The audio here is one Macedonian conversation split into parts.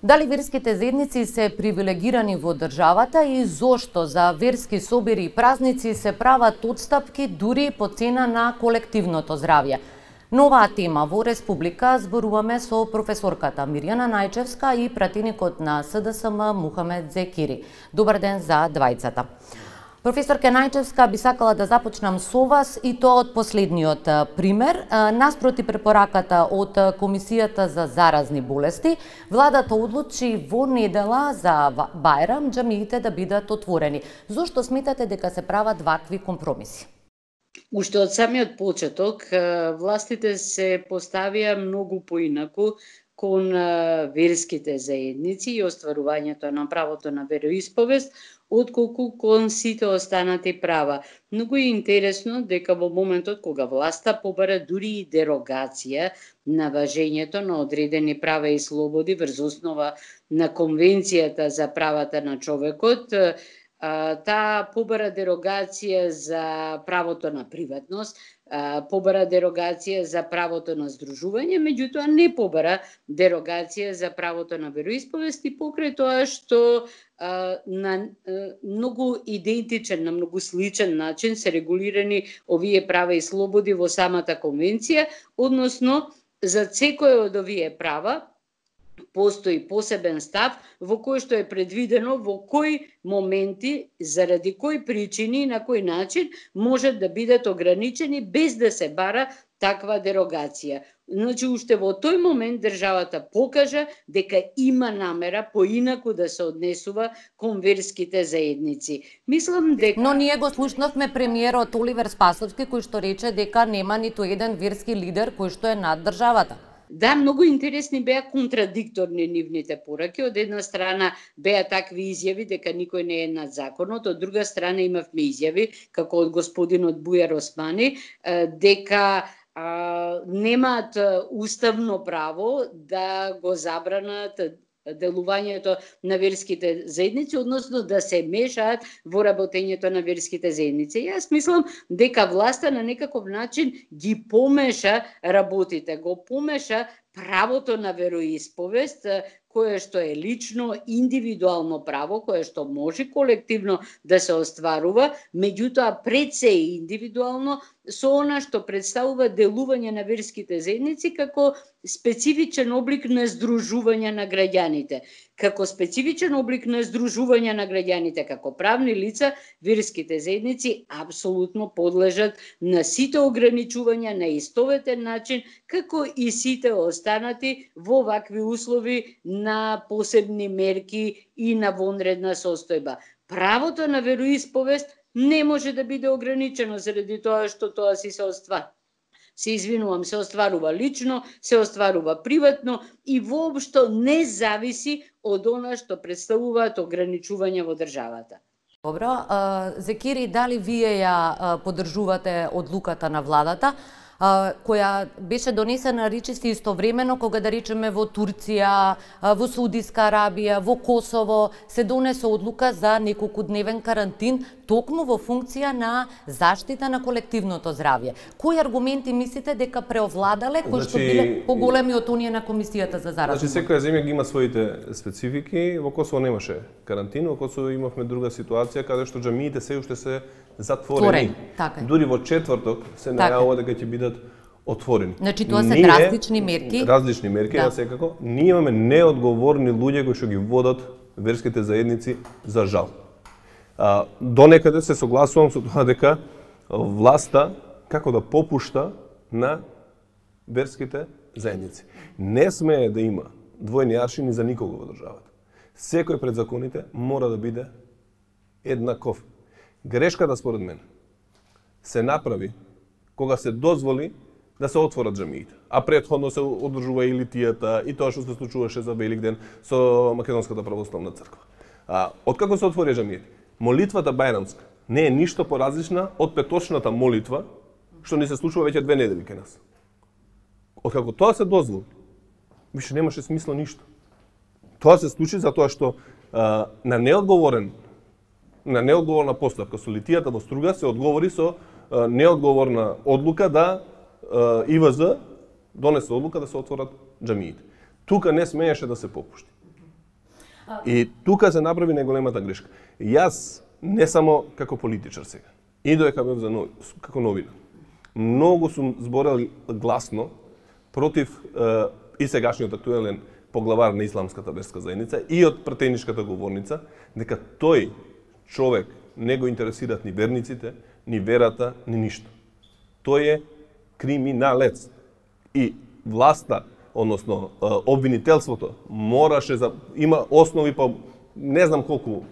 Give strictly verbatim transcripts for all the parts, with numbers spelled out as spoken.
Дали верските заедници се привилегирани во државата и зошто за верски собири и празници се прават отстапки дури по цена на колективното здравје? На оваа тема во Республика зборуваме со професорката Мирјана Најчевска и пратеникот на С Д С М Мухамед Зекири. Добар ден за двајцата. Професорке Најчевска, би сакала да започнам со вас и тоа од последниот пример. Наспроти препораката од Комисијата за заразни болести, владата одлучи во недела за Бајрам џамиите да бидат отворени. Зошто сметате дека се прават вакви компромиси? Уште од самиот почеток, властите се поставија многу поинаку кон верските заедници и остварувањето на правото на вероисповест, отколку кон сите останати права. Многу е интересно дека во моментот кога власта побара дури и дерогација на важењето на одредени права и слободи врз основа на Конвенцијата за правата на човекот, таа побара дерогација за правото на приватност, побара дерогација за правото на здружување, меѓутоа не побара дерогација за правото на вероисповест и покрај тоа што на многу идентичен, на многу сличен начин се регулирани овие права и слободи во самата конвенција, односно за секој од овие права постои посебен став во кој што е предвидено во кои моменти, заради кои причини и на кој начин можат да бидат ограничени без да се бара таква дерогација. Значи, уште во тој момент државата покажа дека има намера поинаку да се однесува кон верските заедници. Мислам дека... Но ние го слушнавме премиерот Оливер Спасовски кој што рече дека нема ниту еден верски лидер кој што е над државата. Да, многу интересни беа контрадикторни нивните пораки. Од една страна беа такви изјави дека никој не е над законот, од друга страна имавме изјави, како од господинот Бујар Османи, дека а, немаат уставно право да го забранат делувањето на верските заедници, односно да се мешаат во работењето на верските заедници. Јас мислам дека власта на некаков начин ги помеша работите, го помеша правото на вероисповест, кое што е лично, индивидуално право, кое што може колективно да се остварува, меѓутоа пред се индивидуално со она што представува делување на верските заедници како специфичен облик на здружување на граѓаните. Како специфичен облик на здружување на граѓаните, како правни лица, верските заедници апсолутно подлежат на сите ограничувања на истоветен начин, како и сите останати во вакви услови на посебни мерки и на вонредна состојба. Правото на вероисповест не може да биде ограничено заради тоа што тоа си се остварува. Се извинувам, се остварува лично, се остварува приватно и воопшто не зависи од она што представуваат ограничувања во државата. Добро, Зекири, дали вие ја поддржувате одлуката на владата, која беше донесена речиси истовремено кога, да речеме, во Турција, во Саудиска Арабија, во Косово се донесе одлука за неколкудневен карантин токму во функција на заштита на колективното здравје. Кои аргументи мислите дека преовладале, кои што биле поголеми од оние на Комисијата за заразни болести? Значи, секоја земја ги има своите специфики. Во Косово немаше карантин, во Косово имавме друга ситуација каде што џамиите се уште се затворени. Така. Дури во четврток се најавува дека ќе бидат отворени. Значи тоа се ние, различни мерки. Различни мерки, да, секако. Ние имаме неодговорни луѓе кои што ги водат верските заедници, за жал. А, до некаде се согласувам со тоа дека власта како да попушта на верските заедници. Не смее да има двојни аршини за никого во државата. Секој пред законите мора да биде еднаков. Грешката, според мен, се направи кога се дозволи да се отворат џамиите, а претходно се одржува и литијата и тоа што се случуваше за Великден со Македонската православна црква. А, откако се отвори џамиите, молитвата бајрамска не е ништо поразлична од петочната молитва што ни се случува веќе две недели кај нас. Откако тоа се дозволи, више немаше смисло ништо. Тоа се случи затоа што а, на неодговорен на неодговорна постапка со литијата во Струга се одговори со а, неодговорна одлука да а, И В З донесе одлука да се отворат џамиите. Тука не смееше да се попушти. И тука се направи најголемата грешка. Јас не само како политичар сега, и додека бев за нови, како новина, многу сум зборел гласно против е, и сегашниот актуелен поглавар на Исламската верска заедница и од претеничката говорница, дека тој човек не го интересираат ни верниците, ни верата, ни ништо. Тој е криминалец. И власта, односно обвинителството, мораше за има основи, па не знам колку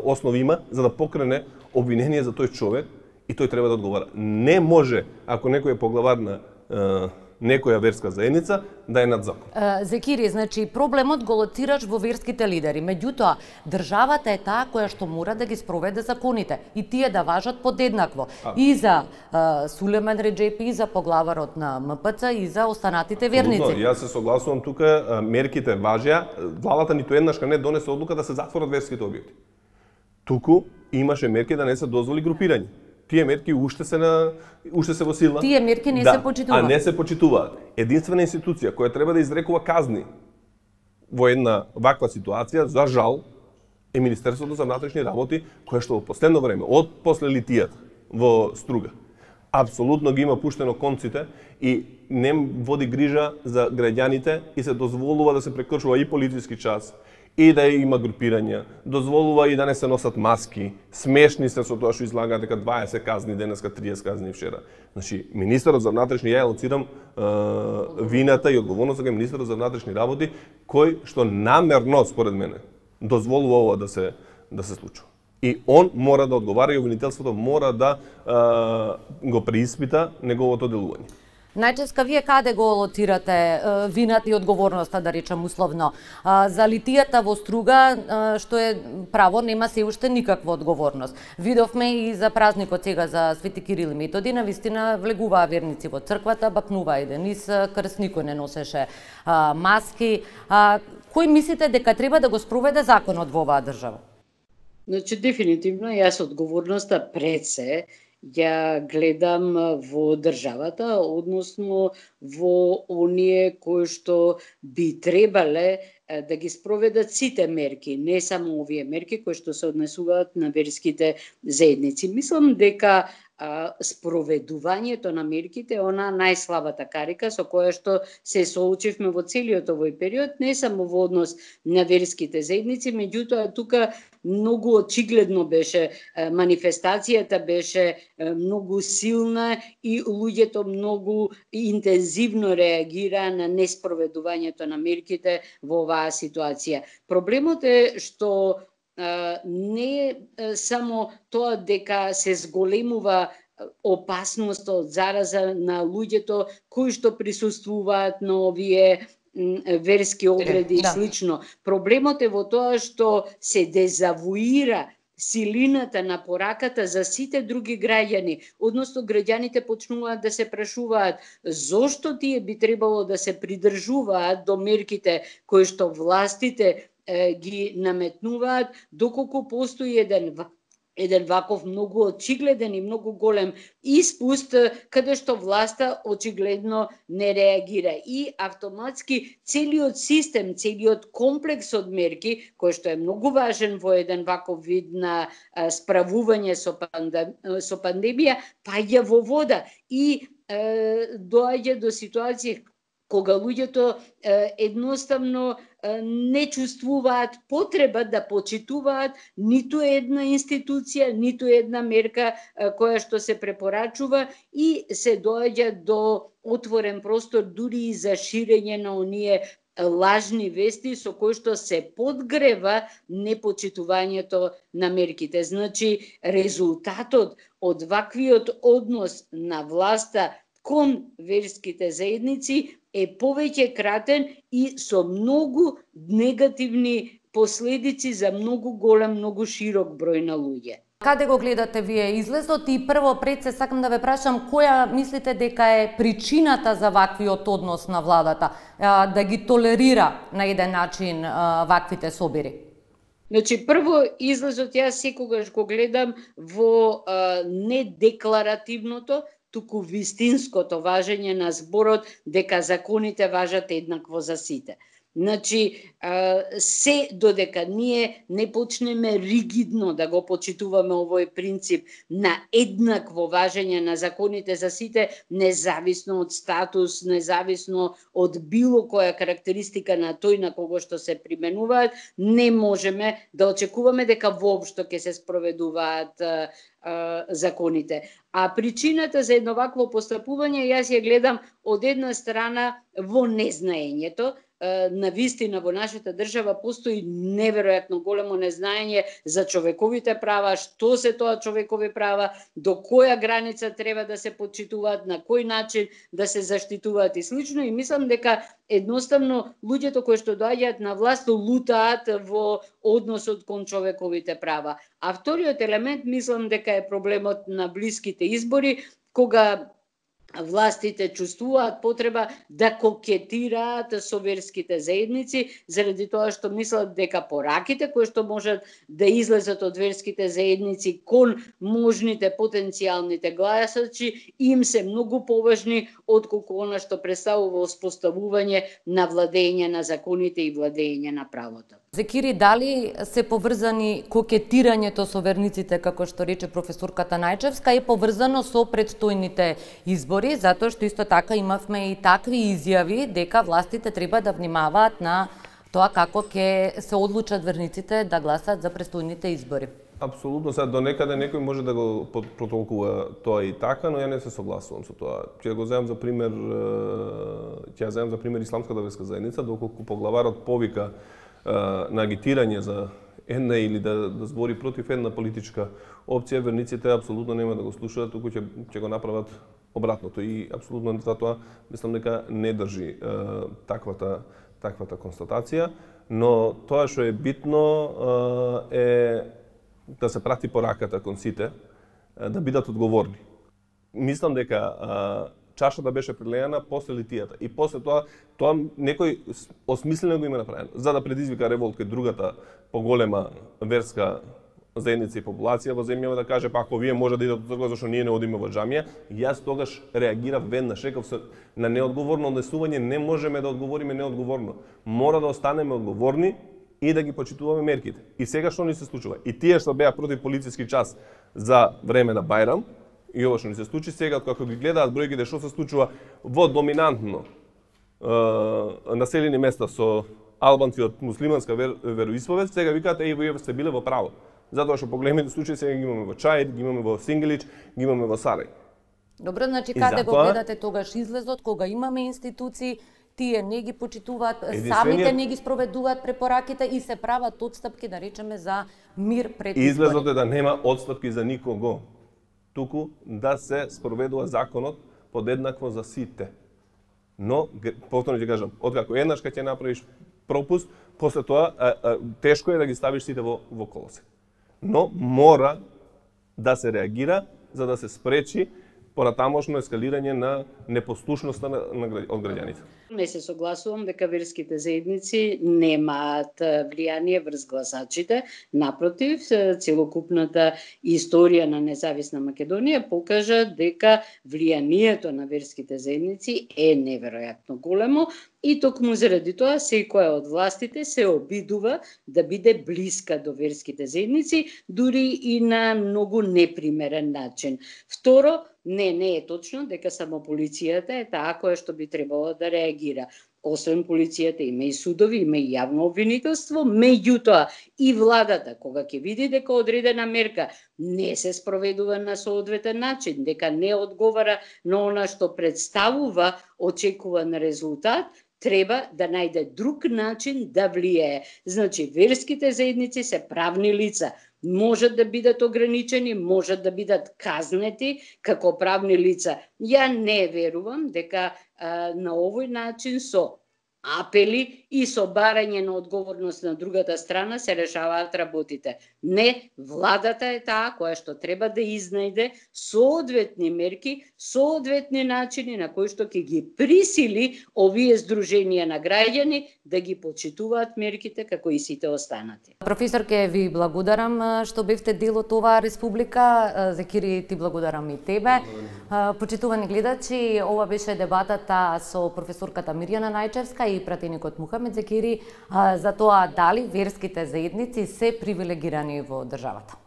основи има за да покрене обвинение за тој човек и тој треба да одговара. Не може, ако некој е поглавар на некоја верска заедница, да е над закон. Зекири, значи проблемот го лоцираш во верските лидери, меѓутоа државата е таа која што мора да ги спроведе законите и тие да важат подеднакво. А. И за uh, Сулеман Реджепи, и за поглаварот на М П Ц, и за останатите верници. Абсолютно, јас се согласувам тука, мерките важеа, владата ниту еднашка не донесе одлука да се затворат верските објекти. Туку имаше мерки да не се дозволи групирање. Тие мерки уште се на уште се во сила. Тие мерки не да, се почитуваат. А не се почитуваат. Единствена институција која треба да изрекува казни во една ваква ситуација, за жал, е Министерството за внатрешни работи, кое што во последно време, од после литијата во Струга, апсолутно ги има пуштено конците и не води грижа за граѓаните и се дозволува да се прекршува и полициски час, и да има групирања, дозволува и да не се носат маски, смешни се со тоа што излагаат дека дваесет казни денеска, триесет казни вчера. Значи, министерот за внатрешни, ја лоцирам е, вината и одговорноста кај министерот за внатрешни работи, кој што намерно, според мене, дозволува ова да се да се случува. И он мора да одговара и обвинителството мора да е, го преиспита неговото делување. Најческа вие каде го лоцирате вината и одговорноста, да речем условно? За литијата во Струга, што е право, нема се уште никаква одговорност. Видовме и за празникот сега за Свети Кирил и Методи, навистина влегуваа верници во црквата, бакнуваа еден низ крст, никој не носеше маски. Кој мислите дека треба да го спроведе законот во оваа држава? Значи, дефинитивно, јас одговорноста пред се ја гледам во државата, односно во оние кои што би требале да ги спроведат сите мерки, не само овие мерки кои што се однесуваат на верските заедници. Мислам дека а, спроведувањето на мерките е она најслабата карика со која што се соочивме во целиот овој период, не само во однос на верските заедници, меѓутоа тука многу очигледно беше, манифестацијата беше многу силна и луѓето многу интензивно реагираа на неспроведувањето на мерките во оваа ситуација. Проблемот е што не е само тоа дека се зголемува опасност од зараза на луѓето кои што присуствуваат на овие верски обреди и слично. Проблемот е во тоа што се дезавуира силината на пораката за сите други граѓани, односно граѓаните почнуваат да се прашуваат зошто тие би требало да се придржуваат до мерките кои што властите е, ги наметнуваат, доколку постои еден еден ваков многу очигледен и многу голем испуст, каде што власта очигледно не реагира. И автоматски целиот систем, целиот комплекс од мерки, кој што е многу важен во еден ваков вид на справување со, пандем, со пандемија, паѓа во вода и е, доаѓа до ситуација кога луѓето е, едноставно е, не чувствуваат потреба да почитуваат ниту една институција, ниту една мерка е, која што се препорачува и се доаѓа до отворен простор дури и за ширење на оние лажни вести со кои што се подгрева непочитувањето на мерките. Значи, резултатот од ваквиот однос на власта кон верските заедници е повеќе кратен и со многу негативни последици за многу голем, многу широк број на луѓе. Каде го гледате вие излезот и прво пред се сакам да ве прашам која мислите дека е причината за ваквиот однос на владата, да ги толерира на еден начин ваквите собири? Значи, прво излезот јас секогаш го гледам во а, недекларативното, туку вистинското важење на зборот дека законите важат еднакво за сите. Значи, се додека ние не почнеме ригидно да го почитуваме овој принцип на еднакво важење на законите за сите, независно од статус, независно од било која карактеристика на тој на кого што се применуваат, не можеме да очекуваме дека воопшто ќе се спроведуваат а, а, законите. А причината за едно вакво постапување јас ја гледам од една страна во незнаењето. На вистина во нашата држава постои неверојатно големо незнаење за човековите права, што се тоа човекови права, до која граница треба да се почитуваат, на кој начин да се заштитуваат и слично, и мислам дека едноставно луѓето кои што доаѓаат на власт лутаат во односот кон човековите права. А вториот елемент мислам дека е проблемот на блиските избори, кога властите чувствуваат потреба да кокетираат со верските заедници, заради тоа што мислат дека пораките кои што можат да излезат од верските заедници кон можните потенцијалните гласачи им се многу поважни отколку она што представува успоставување на владење на законите и владење на правото. Зекири, дали се поврзани кокетирањето со верниците, како што рече професорката Најчевска, е поврзано со предстојните избори, затоа што исто така имавме и такви изјави дека властите треба да внимаваат на тоа како ќе се одлучат верниците да гласат за предстојните избори. Апсолутно, сега до некаде некој може да го протолкува тоа и така, но ја не се согласувам со тоа. Ќе го земам за пример, ќе ја земам за пример исламската верска заедница, доколку поглаварот повика на агитирање за една или да, да збори против една политичка опција, верниците апсолутно нема да го слушаат, туку ќе ќе го направат обратното. И апсолутно затоа мислам дека не држи е, таквата таквата констатација, но тоа што е битно е, е да се прати пораката кон сите, е, да бидат одговорни. Мислам дека е, чашата беше прелејана после литијата и после тоа тоа некој осмислено го има направено за да предизвика револт кај другата поголема верска заедница и популација во земјава, да каже па ако вие може да идете од црква зашто ние не одиме во џамија. Јас тогаш реагирав веднаш, реков се на неодговорно однесување не можеме да одговориме неодговорно. Мора да останеме одговорни и да ги почитуваме мерките. И сега што ни се случува? И тие што беа против полициски час за време на Бајрам, и ова што ни се случи сега, како ги гледаат бројките што се случува во доминантно е, населени места со албанци од муслиманска вер, вероисповест, сега викаат еј вие сте биле во право. Затоа што поголемите случаи сега ги имаме во Чаир, ги имаме во Сингелич, ги имаме во Сарај. Добро, значи каде затоа... го гледате тогаш излезот кога имаме институции, тие не ги почитуваат, единствениот... самите не ги спроведуваат препораките и се прават отстапки, да речеме, за мир пред избори. Излезот е да нема отстапки за никого, туку да се спроведува законот подеднакво за сите. Но, повторно ќе кажам, откако еднаш кога ќе направиш пропуст, после тоа а, а, тешко е да ги ставиш сите во, во колосек. Но мора да се реагира за да се спречи понатамошно ескалирање на непослушноста на, на, од граѓаните. Не се согласувам дека верските заедници немаат влијание врз гласачите. Напротив, целокупната историја на независна Македонија покажа дека влијанието на верските заедници е неверојатно големо и токму заради тоа секоја од властите се обидува да биде блиска до верските заедници, дури и на многу непримерен начин. Второ, не, не е точно дека само полицијата е таа која што би требало да реагира. Освен полицијата има и судови, има и јавно обвинителство, меѓутоа и владата кога ќе види дека одредена мерка не се спроведува на соодветен начин, дека не одговара на она што представува очекуван резултат, треба да најде друг начин да влијае. Значи, верските заедници се правни лица, можат да бидат ограничени, можат да бидат казнети како правни лица. Ја не верувам дека а, на овој начин со апели и со барање на одговорност на другата страна се решаваат работите. Не, владата е таа која што треба да изнајде соодветни мерки, соодветни начини на кои што ќе ги присили овие здруженија на граѓани да ги почитуваат мерките како и сите останати. Професор, ке ви благодарам што бевте дел од оваа республика. Зекири, ти благодарам и тебе. Почитувани гледачи, ова беше дебатата со професорката Мирјана Најчевска и пратеникот Мухамед Зекири за тоа дали верските заедници се привилегирани во државата.